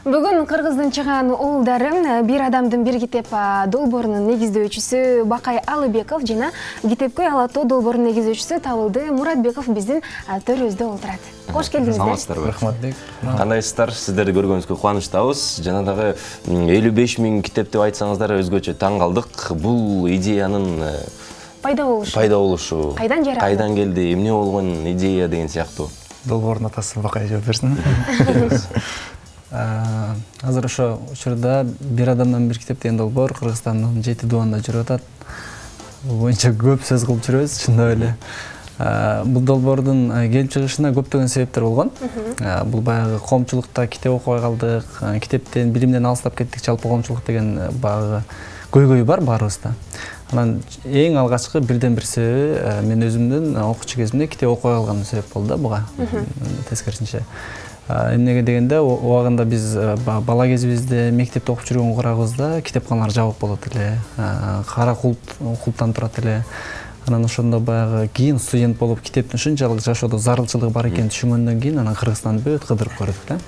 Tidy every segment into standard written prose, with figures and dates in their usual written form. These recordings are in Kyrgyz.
Бүгүн Кыргыздын чыган уулдары бир адамдын бир китеп долбоорунун негиздөөчүсү Бакай Алыбеков жана китепкөй ала тоо долбоорунун негиздөөчүсү Табылды Муратбеков биздин төрүбүздө олтурат. Кош келдиңиздер. Саламатсыздарбы? Рахматбек. Кандайсыздар? Сиздерди көргөнүбүзгө кубанычтабыз. Жана дагы 55 000 китеп деп айтсаңыздар өзгөчө таң калдык. Бул идеянын пайда болушу. Кайдан келди? Эмне болгон идея деген сыяктуу. Долбоордун атасы Бакай жооп берсин. Азыр ошо учурда бир адамдан бир китеп деген долбоор Кыргызстандын 7 дубанда жүрүп атат. Бул боюнча көп сөз кылып жүрөбүз, чындап эле. Бул долбоордун келип чыгышына көптөгөн себептер болгон. Бул баягы коомчулукта китеп окубай калдык, китептен, билимден алыстап кеттик, жалпы коомчулук деген баягы көйгөй бар баарыбызда. Анан эң алгачкы бирден бир себеби мен өзүмдүн окуучу кезимде китеп окубай калганым себеп болду да буга. Тескерисинче. Эмнеге дегенде, убагында биз бала кезибизде мектепте окуп жүргөн курагыбызда китепканалар жабык болот эле, кара култтан турат эле. Анан ошондо баягы кийин студент болуп китептин ушунчалык жашоодо зарылчылыгы бар экенин түшүнгөндөн кийин анан Кыргызстанды бүт кыдырып көрдүк да.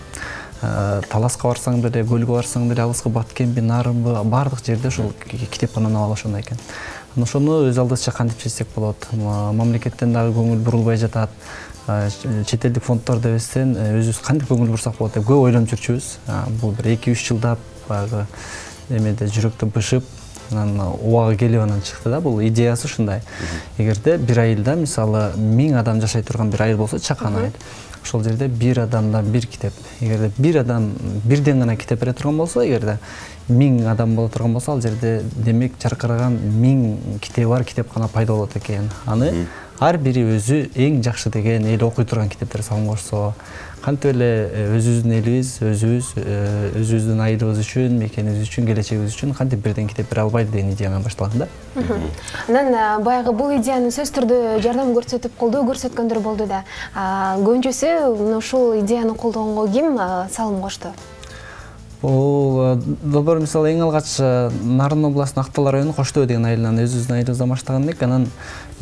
Таласка барсаң деле, көлгө барсаң деле, алыскы Баткемби, Нарымбы, бардык жерде ошол китепкананы ала ошондой экен. Ошону өз алдыбызча кантип чечсек болот? Мамлекеттен дагы көңүл бурулбай жатат. Чет элдик фонддорду эбестен өзүбүз кантип көңүл бурсак болот деп көп ойлонуп жүрчүбүз. Бул бир 2-3 жылдап баягы эмеде жүрөктө бышып, анан убагы келип анан чыкты да. Бул идеясы ушундай. Эгерде бир айылда мисалы 1000 адам жашай турган бир айыл болсо, чакан айыл. Ошол жерде бир адамдан бир китеп. Эгерде бир адам бирден гана китеп бере турган болсо, эгерде 1000 адам боло турган болсо, ал жерде демек жаркыраган 1000 китеби бар китепкана пайда болот экен. Аны ар бири өзү эң жакшы деген, эл окуй турган китептер салым кошсо, кантип эле өзүбүздүн элибиз, өзүбүздүн айылыбыз үчүн, мекенибиз үчүн, келечегибиз үчүн кантип бирден китеп бере албайбы деген идея менен башталган да. Анан баягы бул идеяны сөз түрдө жардам көрсөтүп, колдоо көрсөткөндөр болду да. Көбүнчөсү ушул идеяны колдогонго ким салым кошту? Бул долбоор мисалы эң алгач Нарын областынын Актал районунун Кош Төө деген айылынан өзүбүздүн айылыбыздан баштаган элек, анан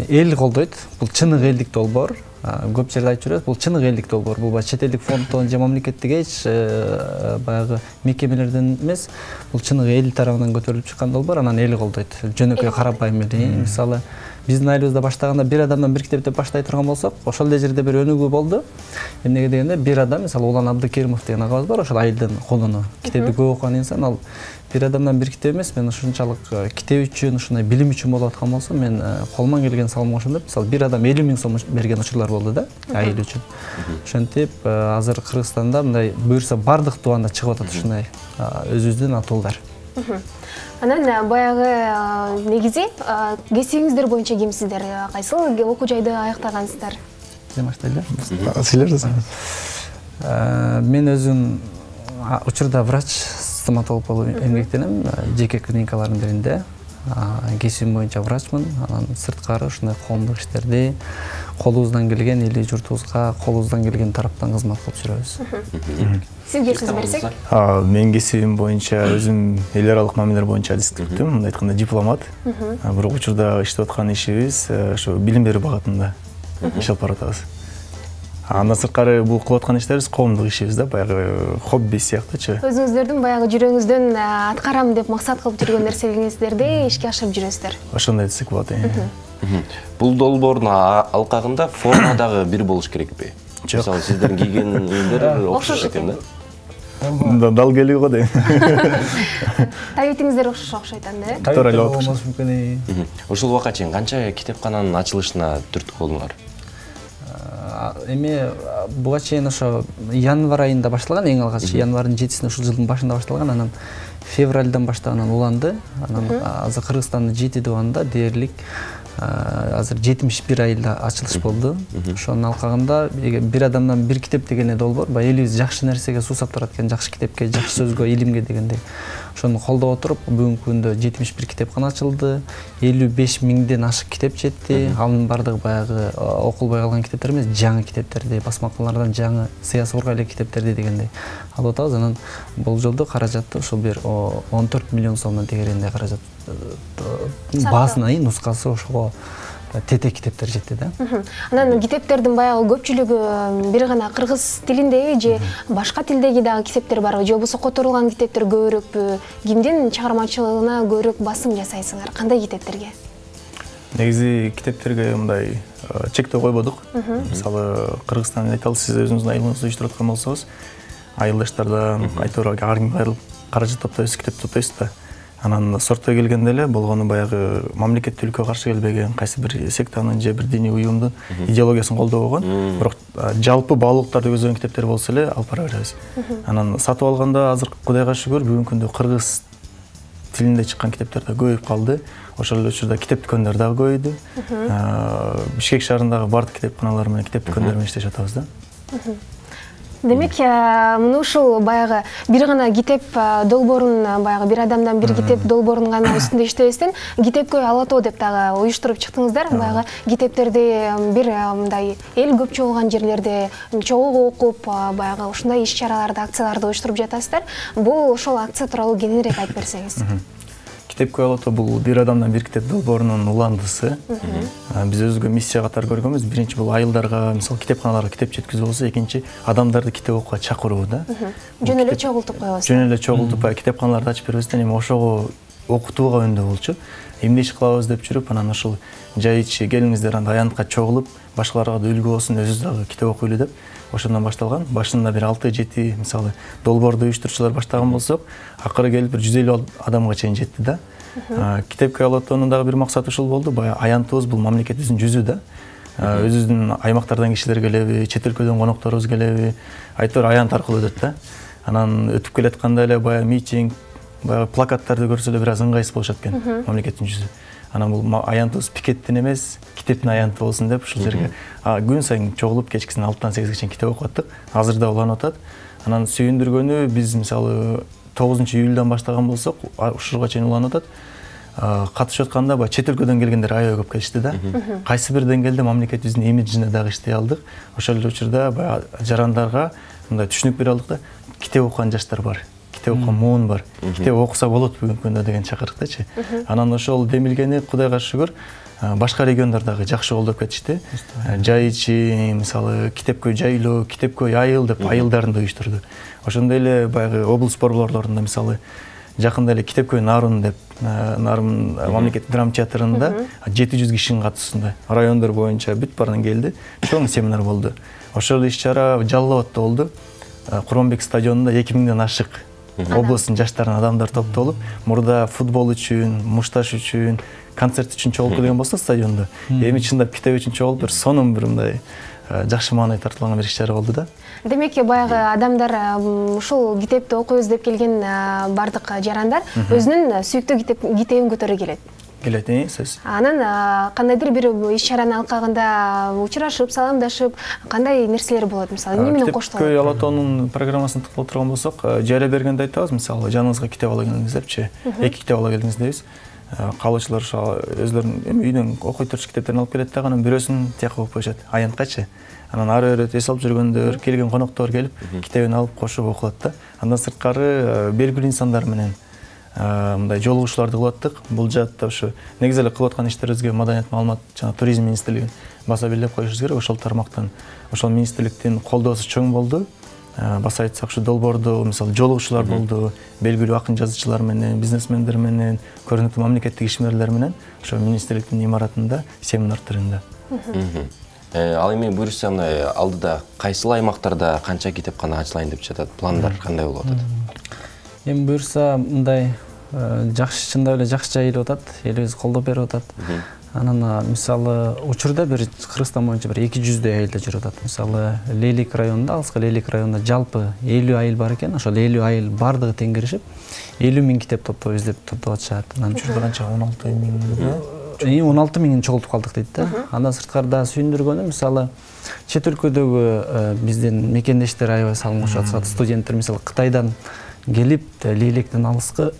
эл колдойт. Бул чыныгы элдик долбоор. Көп жерде айтып жүрөбүз, бул чыныгы элдик долбоор. Бул чет элдик фонддон же мамлекеттик эч баягы мекемелерден эмес, бул чыныгы эл тарабынан көтөрүлүп чыккан долбоор, анан эл колдойт. Жөнөкөй карапайым эле. Мисалы биздин айылыбызда баштаганда бир адамдан бир китеп деп баштай турган болсок, ошол эле жерде бир өнүгүү болду. Эмнеге дегенде, бир адам, мисалы Улан Абдыкеримов деген агабыз бар, ошол айылдын колуну. Китепти көп окуган инсан, ал бир адамдан бир китеп эмес, мен ушунчалык китеп үчүн, ушундай билим үчүн болуп аткан болсо, мен колуман келген салым кошом деп, мисалы бир адам 50 000 сом берген учурлар болду да, айыл үчүн. Ошентип азыр Кыргызстанда мындай буюрса бардык дубанда чыгып атат ушундай өзүбүздүн атуулдар. Анан баягы негизи кесибиңиздер боюнча кимсиздер? Кайсыл окуу жайды аяктагансыздар? Сен баштайлы. Силер мен өзүм учурда врач, стоматолог болуп эмгектенем, жеке клиникалардын биринде. Кесибим боюнча врачмын, анан сырткары ушундай коомдук иштерди колубуздан келген, эли журтубузга колубуздан келген тараптан кызмат кылып жүрөбүз. Сизге сөз берсек? Мен кесибим боюнча өзүм эл аралык мамилелер боюнча адистиктүм, мындай айтканда дипломат. Бирок учурда иштеп аткан ишибиз ошо билим берүү багытында иш алып баратабыз. Андан сырткары бул кылып аткан иштерибиз коомдук ишибиз да, баягы хобби сыяктуучу. Өзүңүздөрдүн баягы жүрөгүңүздөн аткарам деп максат кылып жүргөн нерселериңиздерди ишке ашырып жүрөсүздөр. Ошондой десек болот. Бул долбоордун алкагында форма дагы бир болуш керекпи? Мисалы сиздердин кийген кийимдер окшош экен да. Дал келиги го дейм. Табитиңиздер окшойт анда, э? Туура эле болмош мүмкүн. Ушул убакка чейин канча китепкананын ачылышына түрткү болдуңар? Эми буга чейин ошо январь айында башталган, эң алгач январдын 7-синде ушул жылдын башында башталган, анан февралдан баштап уланды. Анан азыр Кыргызстандын 7 дубанда дээрлик азыр 71 айылда ачылыш болду. Ошонун алкагында бир адамдан бир китеп деген долбоор, элибиз жакшы нерсеге суусап турат экен, жакшы китепке, жакшы сөзгө, илимге дегендей. Ошону колдоп отуруп, бүгүнкү күндө 71 китепкана ачылды, 55 000ден ашык китеп жетти. Анын бардыгы баягы окулбай калган китептер эмес, жаңы китептерди, басмакалардан жаңы сыясыбырга эле китептерди дегендей алып атабыз. Анан болжолдо каражатты ошол бир 14 миллион сомдон тегерегинде каражат базынай нускасы ошого тетек китептер жетти да. Анан китептердин баягы көпчүлүгү бир гана кыргыз тилиндеби же башка тилдеги дагы китептер барбы же болбосо которулган китептер көбүрөкпү? Кимдин чыгармачылыгына көбүрөөк басым жасайсыңар? Кандай китептерге? Негизи китептерге мындай чектөө койбодук. Мисалы Кыргызстан айталы, сиз өзүңүздүн айылыңызды уюштуруп аткан болсоңуз, айылдаштардан айтор ар ким айрылып каражат топтойсуз, китеп топтойсуз да. Анан сорттой келгенде эле болгону баягы мамлекеттүүлүккө каршы келбеген кайсы бир сектанын же бир диний уюмдун идеологиясын колдобогон, бирок жалпы баалуулуктарды көздөген китептер болсо эле алып бара беребиз. Анан сатып алганда азыр Кудайга шүгүр бүгүнкү күндө кыргыз тилинде чыккан китептер да көбөйүп калды. Ошол эле учурда китеп дүкөндөр дагы көбөйдү. Бишкек шаарындагы бардык китепканалар менен китеп дүкөндөр менен иштешип атабыз да. Демек, мына ушул баягы бир гана китеп долбоорун, баягы бир адамдан бир китеп долбоорун гана үстүндө иштебестен, китепкөй ала тоо деп дагы уюштуруп чыктыңыздар. Баягы китептерди бир мындай эл көп чогулган жерлерде чогуу окуп, баягы ушундай иш-чараларды, акцияларды уюштуруп жатасыздар. Бул ошол акция тууралуу кененирээк айтып берсеңиз. Китепкөй ала тоо бул бир адамдан бир китеп долбоорунун уландысы. Биз өзүбүзгө миссия катары көргөнбүз. Биринчи бул айылдарга, мисалы китепканаларга китеп жеткизүү болсо, экинчи адамдарды китеп окууга чакыруу да. Жөн эле чогултуп коебуз. Жөн эле чогултуп, китепканаларды ачып бербестен эми ошого окутууга өндө болчу. Эмне иш кылабыз деп жүрүп, анан ошол жай ичи келиңиздер анда аянтка чогулуп, башкаларга да үлгү болсун, өзүбүз дагы китеп окуйлу деп ошондон башталган. Башында бир 6-7 мисалы долбоорду уюштуруучулар баштаган болсок, акыры келип бир 150 адамга чейин жетти да. Китепкөй ала тоонун дагы бир максаты ушул болду. Баягы аянтыбыз бул мамлекетибиздин жүзү да. Өзүбүздүн аймактардан кишилер келеби, чет өлкөдөн конокторубуз келеби, айтор аянт аркылуу өтөт да. Анан өтүп келатканда эле баягы митинг, баягы плакаттарды көрсө эле бир аз ыңгайсыз болушат экен мамлекеттин жүзү. Анан бул аянтыбыз пикеттин эмес, китептин аянты болсун деп ушул жерге күн сайын чогулуп кечкисин 6-тан 8ге чейин китеп окуп аттык. Азыр да уланып атат. Анан сүйүндүргөнү биз мисалы 9-июлдан баштаган болсок, ушуга чейин уланып атат. Катышып атканда баягы чет өлкөдөн келгендер аябай көп келишти да. Кайсы бир деңгээлде мамлекетибиздин имиджине дагы иштей алдык. Ошол эле учурда баягы жарандарга мындай түшүнүк бере алдык да. Китеп окуган жаштар бар. Китеп окуган муун бар. Китеп окуса болот бүгүнкү күндө деген чакырыктачы. Анан ошол демилгени Кудайга шүгүр башка региондордагы жакшы колдоп кетишти. Жай ичи, мисалы, китепкөй жайлоо, китепкөй айыл деп айылдарын да уюштурду. Ошондой эле баягы облус борборлорунда мисалы жакында эле китепкөй Нарын деп, Нарын мамлекеттик драма театрында 700 кишинин катышуусунда райондор боюнча бүт баарынан келди. Чоң семинар болду. Ошол иш-чара Жалал Абадта болду. Курманбек стадионунда 2000ден ашык облустун жаштарын адамдар топтолуп, мурда футбол үчүн, мушташ үчүн, концерт үчүн чогулуп келген болсо стадиондо, эми чындап китеп үчүн чогулуп, бир сонун бир мындай жакшы маанай тартылган бир иш-чара болду да. Демек, баягы адамдар ушул китепти окуйбуз деп келген бардык жарандар өзүнүн сүйүктүү китебин көтөрө келет. Сөз. Анан кандайдыр бир иш-чаранын алкагында учурашып, саламдашып, кандай нерселер болот, мисалы, эмне менен коштолот? Китепкөй ала тоонун программасын тыктап турган болсок, жайлап бергенде айтабыз, мисалы, жаныңызга китеп ала келиңиз депчи, 2 китеп ала келиңиз дейбиз. Калуучулар өзлөрүнүн үйдөн окуй турчу китептерин алып келет да, анан бирөөсүн тияка окуп коюшат, аянткачы. Анан ары бери эс алып жүргөндөр, келген коноктор келип, китебин алып кошуп окулат да. Андан сырткары белгилүү инсандар менен мындай жолугушууларды кылып аттык. Бул жаатта ушу негизи эле кылып аткан иштерибизге Маданият, маалымат жана туризм министрлигин баса белгилеп коюшубуз керек. Ошол тармактан, ошол министрликтин колдоосу чоң болду. Баса айтсак, ушу долбоордо мисалы жолугушуулар болду, белгилүү акын жазуучулар менен, бизнесмендер менен, көрүнүктүү мамлекеттик ишмерлер менен ошо министрликтин имаратында семинар түрүндө. Ал эми буюрса, мына алдыда кайсыл аймактарда канча китепкана ачылайын деп жатат, пландар кандай болуп атат? Эми буюрса, мындай жакшы, чындап эле жакшы жайылып атат, элибиз колдоп берип атат. Анан мисалы учурда бир Кыргызстан боюнча бир 200 айылда жүрүп атат. Мисалы Лейлик районунда, Алыска Лейлик районунда жалпы 50 айыл бар экен. Ошол 50 айыл бардыгы тең киришип 50 000 китеп топтойбуз деп топтоп атышат. Анан учурда канча 16 000 16 000 чогултуп калдык дейт да. Андан сырткары да сүйүндүргөнү, мисалы чет өлкөдөгү биздин мекендештер аябай салым кошуп атышат. Студенттер мисалы Кытайдан келип Лейликтин алыскы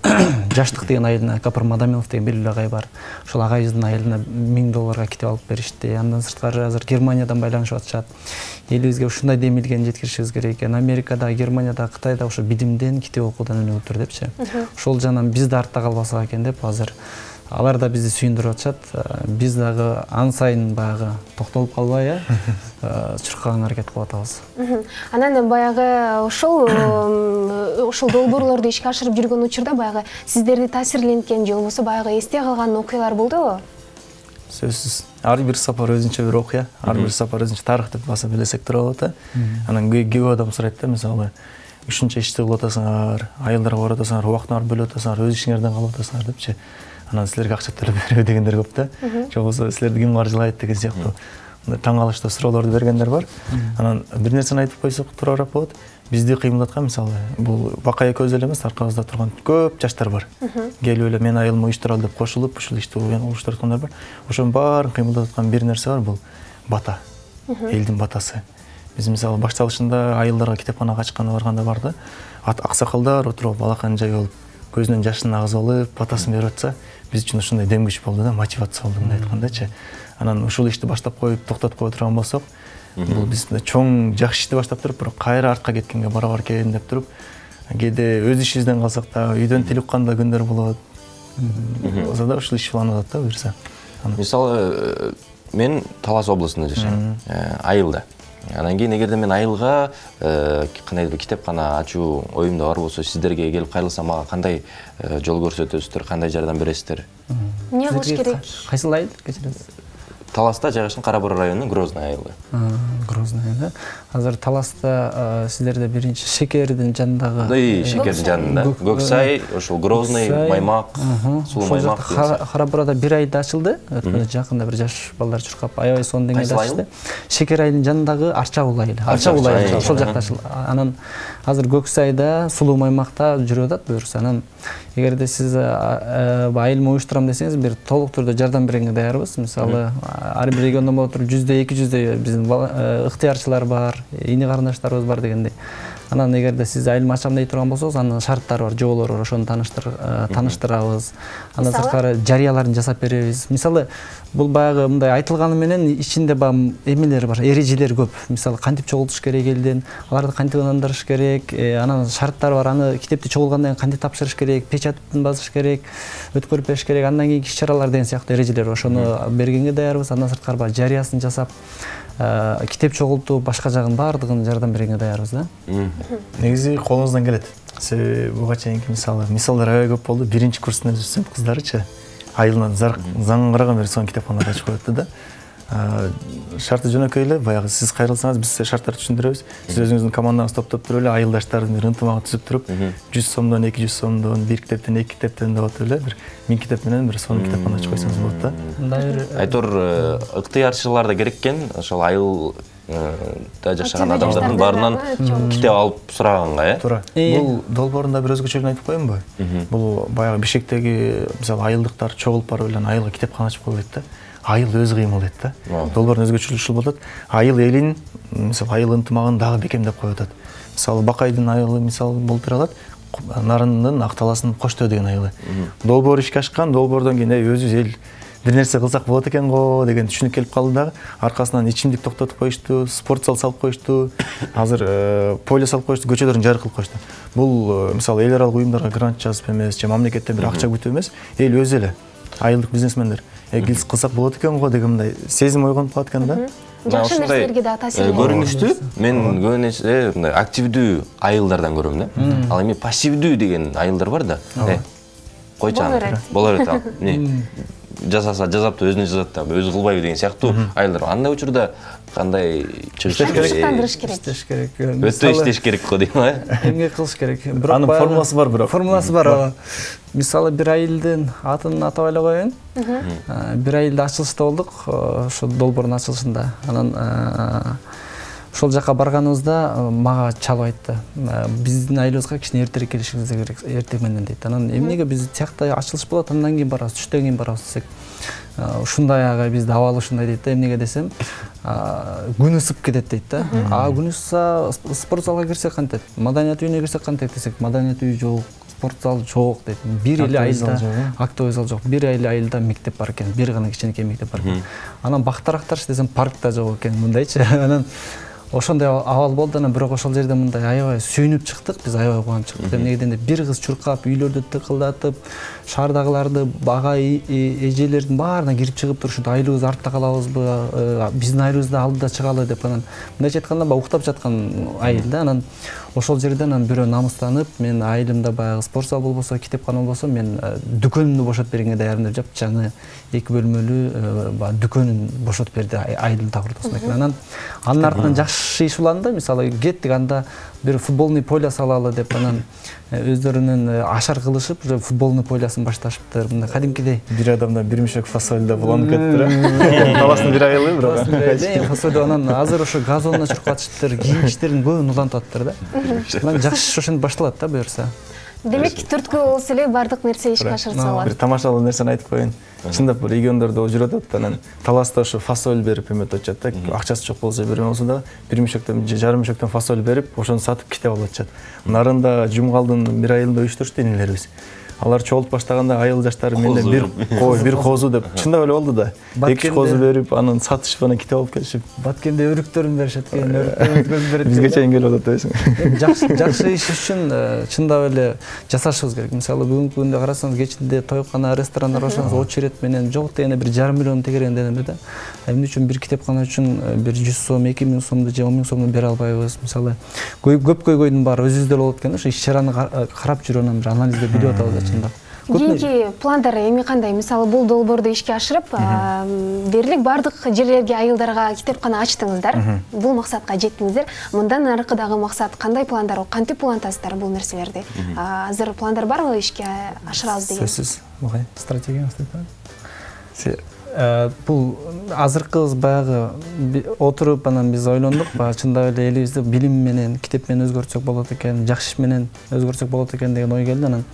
Жаштык деген айылына Капыр Мадамилов деген белгилүү агай бар. Ошол агайыбыздын айылына $1000 китеп алып беришти. Андан сырткары азыр Германиядан байланышып атышат. Элибизге ушундай демилген жеткиришибиз керек экен. Америкада, Германияда, Кытайда ошо билимден, китеп окуудан өнүгүптүр депчи. Ошол жандан биз да артта калбасак экен деп азыр алар да бизди сүйүндүрүп атышат. Биз дагы ан сайын баягы токтолуп калбай чуркаганга аракет кылып атабыз. Анан баягы ошол долбоорлорду ишке ашырып жүргөн учурда баягы сиздерди таасирленткен же болбосо баягы эсте калган окуялар болдубу? Сөзсүз. Ар бир сапар өзүнчө бир окуя, ар бир сапар өзүнчө тарых деп баса билесек тура болот. Анан көп адам сурайт да, мисалы ушунча ишти кылып атасыңар, айылдарга барып атасыңар, убактыңарды бөлүп атасыңар, өз ишиңерден калып атасыңар депчи. Анан силерге акча төлөп бербей дегендер көп да. Же болбосо силерди ким каржылайт деген сыяктуу таң калыштуу суроолорду бергендер бар. Анан бир нерсени айтып койсок туурараак болот. Бизди кыймылдаткан мисалы бул Бакай экөөбүз эле эмес, аркабызда турган көп жаштар бар. Келип эле мен айылымды уюштуралы деп кошулуп, ушул ишти уюштуруп аткандар бар. Ошонун баарын кыймылдатып аткан бир нерсе бар, бул бата. Элдин батасы. Биз мисалы башталышында айылдарга китепканага ачканда барганда бар да, аксакалдар отуруп балакан жай болуп, көзүнөн жашын агызып алып, батасын берип атса, биз үчүн ушундай дем күч болду да, мотивация болду мындай айткандачы. Анан ушул ишти баштап коюп, токтотуп кое турган болсок, бул биз чоң жакшы ишти баштап туруп, бирок кайра артка кеткенге барабар экен деп туруп, кээде өз ишибизден калсак да, үйдөн тил уккан да күндөр болот. Болсо да ушул иш уланып атат да буюрса. Мисалы, мен Талас областында жашайм, айылда. Анан кийин эгерде мен айылга кандайдыр китепкана ачуу оюмда бар болсо, сиздерге келип кайрылсам мага кандай жол көрсөтөсүздөр, кандай жардам бересиздер? Эмне кылыш керек? Кайсыл айыл кечиресиз? Таласта жайгашкан Кара Бура районунун Грозный айылы. Грозный айылы. Азыр Таласта сиздерде биринчи Шекердин жанындагы. Шекердин жанында. Көксай, ошол Грозный, Маймак, Сулуу Маймак. Кара Бурада бир айда ачылды. Жакында бир жаш балдар чуркап, аябай сонун деңгээлде ачылды. Шекер айылынын жанындагы Арчагул айылы. Арчагул айылы ошол жакта ачылды. Анан азыр Көксайда, Сулуу Маймакта жүрүп атат буюрса. Анан эгерде сиз айылымды уюштурам десеңиз, бир толук түрдө жардам бергенге даярбыз. Мисалы, ар бир региондон болот туруп 100-200 биздин ыктыярчылар бар, ини карындаштарыбыз бар дегендей. Анан эгерде сиз айылымды ачам дей турган болсоңуз, анын шарттары бар, жоболору бар, ошону тааныштырабыз. Андан сырткары жарыяларын жасап беребиз. Мисалы, бул баягы мындай айтылганы менен ичинде баягы эмелер бар, эрежелер көп. Мисалы, кантип чогултуш керек элдин, аларды кантип ынандырыш керек, анан шарттары бар. Аны китепти чогулгандан кийин кантип тапшырыш керек, печатын басыш керек, өткөрүп бериш керек, андан кийинки иш-чаралар деген сыяктуу эрежелер бар. Ошону бергенге даярбыз. Андан сырткары баягы жарыясын жасап, китеп чогултуу, башка жагын баардыгын жардам бергенге даярбыз да. Негизи колуңуздан келет. Буга чейинки мисалдар аябай көп болду. Биринчи курстун өзү кыздарычы айылынан заңгыраган бери сонун китепканаларды ачып коет да. Шарты жөнөкөй эле, баягы сиз кайрылсаңыз биз шарттарды түшүндүрөбүз. Сиз өзүңүздүн командаңызды топтоп туруп эле айылдаштардын бир ынтымагын түзүп туруп, 100 сомдон 200 сомдон, бир китептен 2 китептен деп атып эле бир 1000 китеп менен бир сонун китепкана ачып койсоңуз болот да. Мындай бир айтор ыктыярчылар да керек экен, ошол айыл да жашаган адамдардын баарынан китеп алып сураганга, Туура. Бул долбоорунда бир өзгөчөлүгүн айтып коеюнбу? Бул баягы Бишкектеги мисалы айылдыктар чогулуп барып эле айылга китепкана ачып койбойт да. Айыл өзү кыймыл дейт да. Долбоордун өзгөчөлүгү ушул болот. Айыл элин, мисалы айыл ынтымагын дагы бекемдеп коюп атат. Мисалы Бакайдын айылы мисалы болтура алат. Нарындын Акталастын Коштөө деген айылы. Долбоор ишке ашкан, долбоордон кийин өзүбүз эл бир нерсе кылсак болот экен го деген түшүнүк келип калды дагы. Аркасынан ичимдик токтотуп коюшту, спорт зал салып коюшту, азыр поле салып коюшту, көчөлөрүн жарык кылып коюшту. Бул мисалы эл аралык уюмдарга грант жазып эмес, же мамлекеттен бир акча күтүп эмес, эл өзү эле айылдык бизнесмендер кылсак болот экен го деген мындай сезим ойгонуп калат экен да. Жакшы нерселерге да таасир көрүнүштүү. Мен көбүн эсе мындай активдүү айылдардан көрөм да. Ал эми пассивдүү деген айылдар бар да. Койчу аны. Болор эт. Жасаса жазапты, өзүнө жазат да, өзү кылбайбы деген сыяктуу айылдар. Андай учурда кандай чыгыш керек? Өтө иштеш керек го дейм, эмне кылыш керек? Анын формуласы бар бирок. Формуласы бар. Мисалы, бир айылдын атын атап эле коеюн. Бир айылда ачылышта болдук, ошо долбоордун ачылышында. Анан ошол жака барганыбызда мага чалып айтты. Биздин айылыбызга кичине эртерээк келишиңиз керек, эртең менен дейт. Анан эмнеге биз тиякта ачылыш болот, андан кийин барабыз, түштөн кийин барабыз десек. Ушундай ага бизде абал ушундай дейт да. Эмнеге десем, күн ысып кетет дейт да. Күн ысса спорт залга кирсек кантет, маданият үйүнө кирсек кантет десек, маданият үйү жок, спорт зал жок дейт. Бир эле айылда актовый зал жок. Бир эле айылда мектеп бар экен, бир гана кичинекей мектеп бар экен. Анан бактарактарчы десем, паркта жок экен, мындайчы. Анан ошондой абал болду. Анан бирок ошол жерде мындай аябай сүйүнүп чыктык, биз аябай кубанып чыктык. Эмне дегенде бир кыз чуркап, үйлөрдү тыкылдатып, шаардагыларды, бага эжелердин баарына кирип чыгып турушут, айлыбыз артта калабызбы, биздин айлыбызды алдыда чыгалы деп анан мындайча айтканда баягы уктап жаткан айыл да. Анан ошол жерден анан бирөө намыстанып, мен айылымда баягы спорт зал болбосо, китепкана болбосо, мен дүкөнүмдү бошотуп бергенге даярмын деп жапжаңы 2 бөлмөлүү дүкөнүн бошотуп берди айылдын так ортосунда экен. Анан анын артынан жакшы иш уланды. Мисалы кеттик, анда бир футболный поле салалы деп анан өздөрүнүн ашар кылышып, уже футболный полесын башташыптыр. Мындай кадимкидей бир адамдан бир мешок фасоль да буланып кетти. Таластын бир айылы бирок. Фасоль анан азыр ошо газонуна чуркатышыптыр, кийинчтерин көбүн улантыптыр да. Анан жакшы ошентип башталат да буюрса. Демек, түрткү болсо эле бардык нерсе ишке ашырсалат. Бир тамашалуу нерсени айтып коеюн. Чындап региондордо жүрүп атат, анан таласта ошо фасоль берип эметет да. Акчасы жок болсо берем болсо да, бир мешоктон, жарым мешоктон фасоль берип, ошону сатып китеп алып атышат. Нарында Жумгалдын бир айылында уюштурушты энелерибиз. Алар чогулуп баштаганда айыл жаштары менден бир козу деп чындап эле болду да. 2 козу берип, анан сатышып, анан китеп алып келишип. Баткенде өрүктөрүн беришет экен, өрүктөрүн берет. Бизге чейин келип атат дейсиң. Жакшы иш үчүн чындап эле жасашыбыз керек. Мисалы бүгүнкү күндө карасаңыз, кечинде тойкана, ресторандар ошоңуз очередь менен жок дегенде бир жарым миллион тегеренденем да. Эмне үчүн бир китепкана үчүн бир 100 сом, 2000 сомду же 10 000 сомду бере албайбыз? Мисалы көп көйгөйдүн баары өзүбүздө болот экен. Ошо иш-чараны карап жүрүп анан бир анализдеп билип атабыз да чындап. Кийинки пландар эми кандай? Мисалы бул долбоорду ишке ашырып, дээрлик бардык жерлерге, айылдарга китепкана ачтыңыздар. Бул максатка жеттиңиздер. Мындан аркы дагы максат кандай пландар, кантип улантасыздар бул нерселерди? Азыр пландар барбы ишке ашырабыз деген? Сөзсүз. Бугай стратегиябыз деп. Бул азыркыбыз баягы отуруп анан биз ойлондук, чындап эле элибизди билим менен, китеп менен өзгөртсөк болот экен, жакшы иш менен өзгөртсөк болот экен деген ой келди. Анан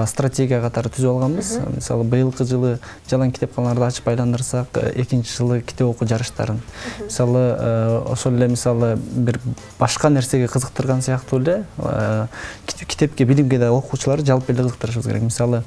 стратегия катары түзүп алганбыз. Мисалы быйылкы жылы жалаң китепканаларды ачып айландырсак, экинчи жылы китеп окуу жарыштарын. Мисалы ошол эле мисалы бир башка нерсеге кызыктырган сыяктуу эле китепке, билимге да окуучуларды жалпы эле кызыктырышыбыз керек. Мисалы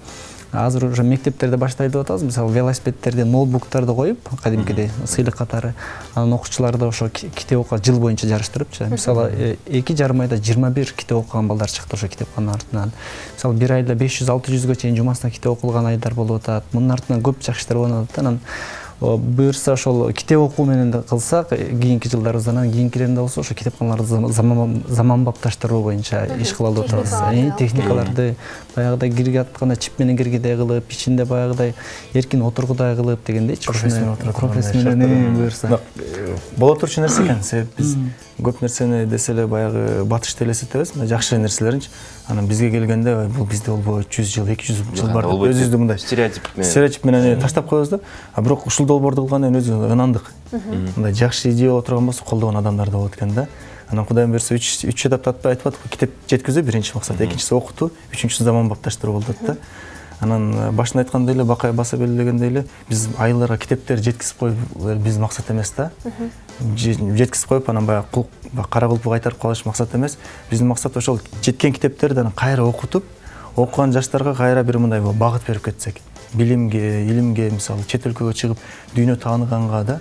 азыр уже мектептерде баштайлы деп атабыз. Мисалы велосипедтерди, ноутбуктарды коюп, кадимкидей сыйлык катары анан окуучуларды ошо китеп окуга жыл боюнча жарыштырыпчы. Мисалы 2,5 айда 21 китеп окуган балдар чыкты ошо китепкананын артынан. Мисалы бир айда 500-600га чейин жумасына китеп окулган айдар болуп атат. Мунун артынан көп жакшы иштер болуп атат. Анан буюрса ошол китеп окуу менен да кылсак, кийинки жылдарыбызда, анан кийинкилеринде болсо ошо китепканаларды заманбапташтыруу боюнча иш кылалы деп атабыз. Техникаларды баягыдай кирге атканда чип менен киргидей кылып, ичинде баягыдай эркин отургудай кылып дегендейчи. Профессионал буюрса. Боло турчу нерсе экен. Себеп биз көп нерсени десе эле баягы батышты элестетебиз, жакшы нерселеринчи. Анан бизге келгенде бул бизде болбойт, 100 жыл, 200 жыл бар деп өзүбүздү мындай стереотип менен таштап коебуз да. Бирок ушул долбоорду кылгандан кийин өзүбүз ынандык. Мындай жакшы идея боло турган болсо колдогон адамдар да болот экен да. Анан Кудайым берсе 3 этапты айтып атып, китеп жеткизүү биринчи максат, экинчиси окутуу, үчүнчүсү заманбапташтыруу болуп атат да. Анан башында айткандай эле, Бакай баса белгилегендей эле, биз айылдарга китептер жеткизип коюп биздин максат эмес да. Жеткизип коюп анан баягы кара кулпу кайтарып калыш максат эмес. Биздин максат ошол жеткен китептерди анан кайра окутуп, окуган жаштарга кайра бир мындай багыт берип кетсек. Билимге, илимге, мисалы чет өлкөгө чыгып дүйнө тааныганга да.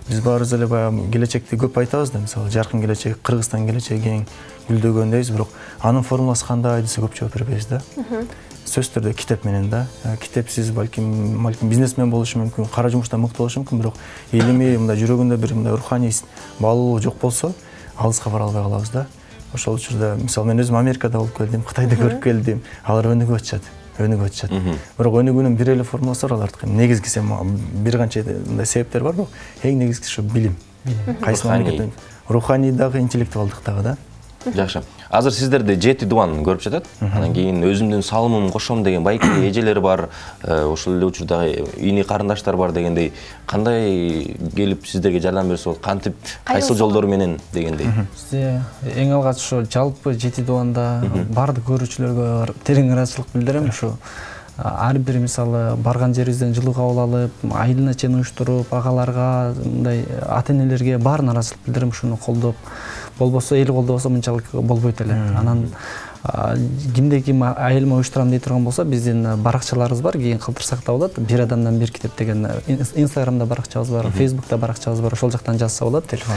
Биз баарыбыз эле баягы келечекти көп айтабыз да, мисалы жаркын келечек, Кыргызстан келечеги кең гүлдөгөн дейбиз, бирок анын формуласы кандай десе көп жооп бербейбиз да. Сөзсүз түрдө китеп менен да. Китепсиз балким бизнесмен болушу мүмкүн, кара жумушта мыкты болушу мүмкүн, бирок илимий мындай жүрөгүндө бир мындай руханий баалуулук жок болсо, алыска бара албай калабыз да. Ошол учурда мисалы мен өзүм Америкада болуп келдим, Кытайды көрүп келдим, алар өнүгүп атышат. Бирок өнүгүүнүн бир эле формуласы бар алардыкы. Негизгиси бир канча мындай себептер бар, бирок эң негизгиси ушу билим. Кайсы мамлекеттен руханий дагы, интеллектуалдык дагы да. Жакшы. Азыр сиздерди 7 дубан көрүп жатат. Анан кийин өзүмдүн салымым кошом деген байки эжелер бар, ошол эле учурда ини карындаштар бар дегендей, кандай келип сиздерге жардам берсе болот, кантип, кайсыл жолдор менен дегендей. Бизде эң алгач ошо жалпы 7 дубанда бардык көрүүчүлөргө терең ыраазычылык билдирем. Ушу ар бир мисалы барган жерибизден жылуу кабыл алып, айылына чейин уюштуруп, агаларга, мындай ата-энелерге баарын ыраазычылык билдирип, ушуну колдоп, болбосо эл колдобосо мынчалык болбойт эле. Анан кимде ким айылыма уюштурам дей турган болсо, биздин баракчаларыбыз бар, кийин калтырсак да болот. Бир адамдан бир китеп деген Инстаграмда баракчабыз бар, Фейсбукта баракчабыз бар, ошол жактан жазса болот. Телефон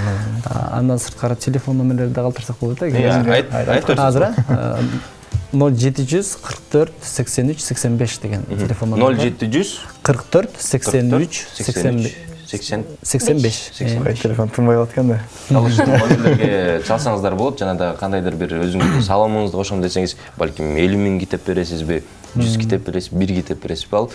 андан сырткары телефон номерлерди калтырсак болот да. Азыр 0700 44 83 85 деген телефон номер. 0700 44 83 85. Телефон тынбай калат экен да. Номерлерге чалсаңыздар болот. Жана да кандайдыр бир өзүңүздүн салымыңызды кошом десеңиз, балким 50 000 китеп бересизби, 100 китеп бересиз, 1 китеп бересизби, ал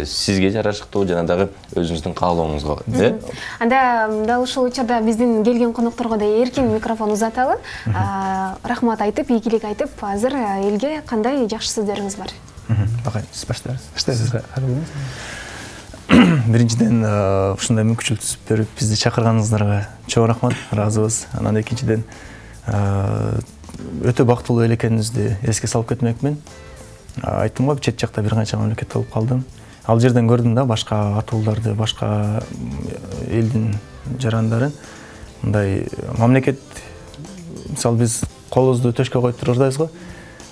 сизге жарашыктуу жана дагы өзүңүздүн каалооңузга, э? Анда дал ушул учурда биздин келген конокторго да эркин микрофон узаталы. Рахмат айтып, ийгилик айтып, азыр элге кандай жакшы сөздөрүңүз бар? Багай, сиз баштайсыз. Биринчиден ушундай мүмкүнчүлүк түзүп берип бизди чакырганыңыздарга чоң рахмат, ыраазыбыз. Анан экинчиден өтө бактылуу эл экениңизди эске салып кетмекмин. Айттым го, чет жакта бир канча мамлекетте болуп калдым. Ал жерден көрдүм да башка атууларды, башка элдин жарандарын. Мындай мамлекет, мисалы биз колубузду төшкө коюп турабыз го.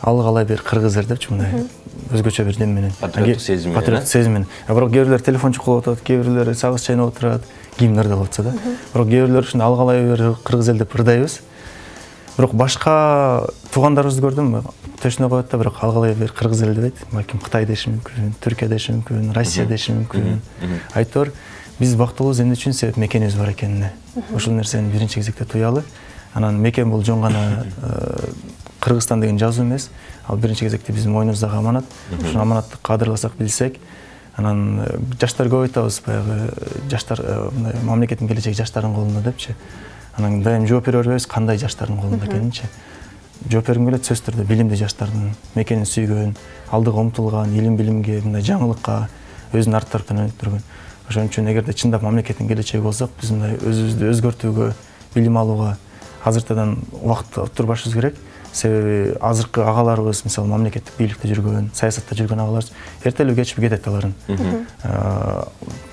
Ал калай бир кыргыз эл депчи, мындай өзгөчө бир дем менен, патриоттук сезим менен. Патриоттук сезим менен. Бирок кээ бирлер телефон чукулуп атат, кээ бирлер сагыз чайнап отурат, кийимдерди кылып атса да. Бирок кээ бирлер ушундай ал калай бир кыргыз эл деп ырдайбыз. Бирок башка туугандарыбызды көрдүм, төшүнө коет да, бирок ал калай бир кыргыз эл дебейт. Балким Кытай деши мүмкүн, Түркия деши мүмкүн, Россия деши мүмкүн. Айтор биз бактылуубуз эмне үчүн себеп мекенибиз бар экенине. Ошол нерсени биринчи кезекте туялы. Анан мекен бул жөн гана Кыргызстан деген жазуу эмес. Ал биринчи кезекте биздин мойнубуздагы аманат. Ушул аманатты кадырласак билсек, анан жаштар көп айтабыз, баягы жаштар мындай мамлекеттин келечеги жаштардын колунда депчи. Анан дайым жооп бере бербейбиз, кандай жаштардын колунда экенинчи. Жооп бергим келет, сөзсүз түрдө билимди жаштардын, мекенин сүйгөн, алдыга умтулган, илим билимге, мындай жаңылыкка өзүнүн арт тараптан өнүктүргөн. Ошон үчүн эгерде чындап мамлекеттин келечеги болсок, биз мындай өзүбүздү өзгөртүүгө, билим алууга азыртадан убакыт отурбашыбыз керек. Себеби азыркы агаларыбыз, мисалы мамлекеттик бийликте жүргөн, саясатта жүргөн агаларыбыз эртелүү кечип кетет аларын.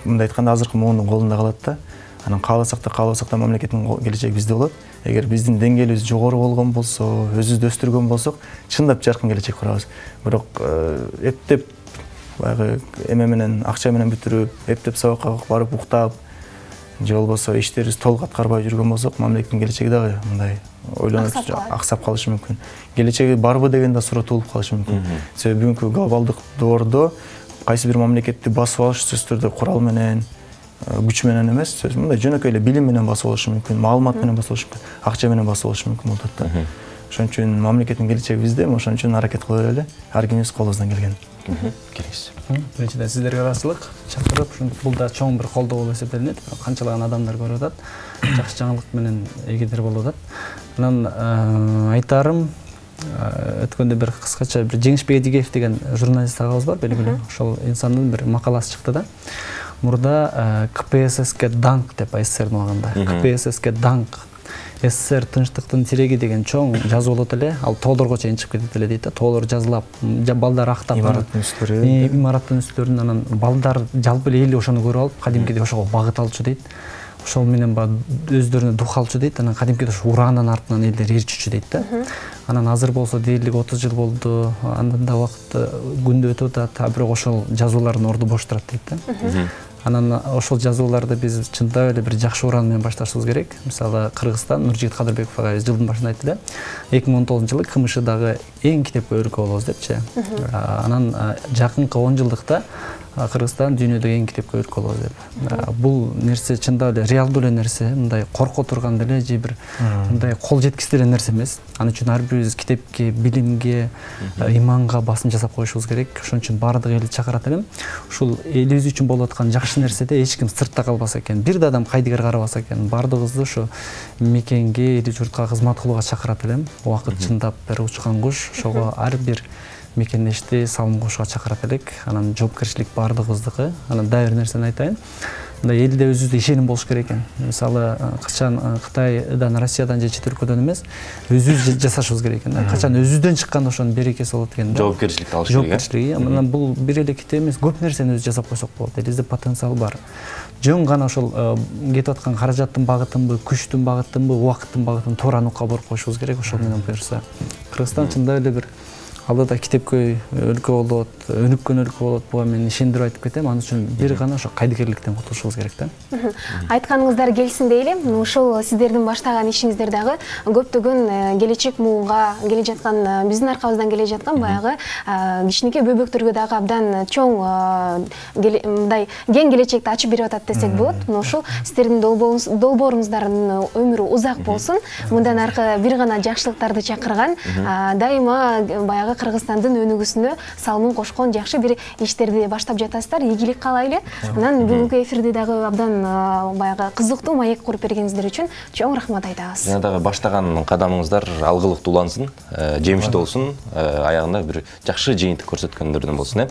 Мындай айтканда азыркы муундун колунда калат да. Анан кааласак да мамлекеттин келечеги бизде болот. Эгер биздин деңгээлибиз жогору болгон болсо, өзүбүздү өстүргөн болсок, чындап жаркын келечек курабыз. Бирок эптеп баягы эме менен, акча менен бүтүрүп, эптеп сабакка барып уктап, же болбосо иштерибиз толук аткарбай жүргөн болсок, мамлекеттин келечеги дагы мындай ойлонуп аксап калышы мүмкүн. Келечеги барбы деген да суроо туулуп калышы мүмкүн. Себеби бүгүнкү глобалдык доордо кайсы бир мамлекетти басып алыш сөзсүз түрдө курал менен, күч менен эмес, мындай жөнөкөй эле билим менен басып алышы мүмкүн, маалымат менен басып алышы мүмкүн, акча менен басып алышы мүмкүн болот да. Ошон үчүн мамлекеттин келечеги бизде, ошон үчүн аракет кыла берели, ар кимибиз колубуздан келген. Келиңиз. Биринчиден сиздерге ыраазычылык, чакырып, бул да чоң бир колдоо болуп эсептелинет. Канчалаган адамдар көрүп атат, жакшы жаңылык менен эгедир болуп атат. Анан айтарым, өткөндө бир кыскача бир Жеңишбек Эдигеев деген журналист агабыз бар, белгилүү. Ошол инсандын бир макаласы чыкты да. Мурда КПССке даңк деп СССРдин убагында. КПССке даңк. СССР тынчтыктын тиреги деген чоң жазуу болот эле. Ал тоолорго чейин чыгып кетет эле дейт да. Тоолор жазылап, балдар актап имараттын үстүлөрү. Имараттын үстүлөрүн анан балдар жалпы эле ошону көрүп алып, кадимкидей ошого багыт алчу дейт. Ошол менен өздөрүнө дух алчу дейт. Анан кадимкидей ошо ураанын артынан элдер ээрчүчү дейт да. Анан азыр болсо дээрлик 30 жыл болду. Андан да убакыт күндө өтүп атат, бирок ошол жазуулардын орду бош турат дейт да. Анан ошол жазууларды биз чындап эле бир жакшы уран менен башташыбыз керек. Мисалы Кыргызстан, Нуржигит Кадырбеков агай жылдын башында айтты эле, 2019-жылы КМШдагы эң китепке өлкө болобуз депчи. Анан жакынкы 10 жылдыкта Кыргызстан дүйнөдөгү эң китепке өлкө болобуз деп. Бул нерсе чындап эле реалдуу эле нерсе, мындай корко турган деле же бир мындай кол жеткисиз эле нерсе эмес. Ал үчүн ар бирибиз китепке, билимге, иманга басым жасап коюшубуз керек. Ошон үчүн баардык элди чакырат элем. Ушул элибиз үчүн болуп аткан жакшы нерседе эч ким сыртта калбаса экен, бир да адам кайдыгер карабаса экен, баардыгыбызды ошо мекенге, эли журтка кызмат кылууга чакырат элем. Убакыт чындап бир учкан куш, ошого ар бир мекендешти салым кошууга чакырат элек. Анан жоопкерчилик баардыгыбыздыкы. Анан дагы бир нерсени айтайын. мындай элде өзүбүздө ишеним болуш керек экен. Мисалы, качан Кытайдан, Россиядан же чет өлкөдөн эмес, өзүбүз жасашыбыз керек экен. Качан өзүбүздөн чыкканда ошонун берекеси болот экен. Жоопкерчиликти алыш керек. Жоопкерчилик. Мына бул бир эле китеп эмес, көп нерсени өзү жасап койсок болот. Элибизде потенциал бар. Жөн гана ошол кетип аткан каражаттын багытынбы, күчтүн багытынбы, убакыттын багытын туура нукка буруп коюшубуз керек. Ошол менен буюрса, Кыргызстан чындап эле бир алдыда китепкөй өлкө болот, өнүккөн өлкө болот. Буга мен ишендирип айтып кетем. Анын үчүн бир гана ошо кайдыгерликтен кутулушубуз керек да. Айтканыңыздар келсин дейли. Ушул сиздердин баштаган ишиңиздер дагы көптөгөн келечек муунга келе жаткан, биздин аркабыздан келе жаткан баягы кичинекей бөбөктөргө дагы абдан чоң мындай кең келечекти ачып берип атат десек болот. Ушул сиздердин долбооруңуздардын өмүрү узак болсун. Мындан аркы бир гана жакшылыктарды чакырган, дайыма баягы Кыргызстандын өнүгүүсүнө салымын кошкон жакшы бир иштерди баштап жатасыздар. Ийгилик каалайлы. Анан бүгүнкү эфирди дагы абдан баягы кызыктуу маек куруп бергениңиздер үчүн чоң рахмат айтабыз. Жана дагы баштаган кадамыңыздар алгылыктуу улансын, жемиштүү болсун, аягында бир жакшы жыйынтык көрсөткөндөрдөн болсун.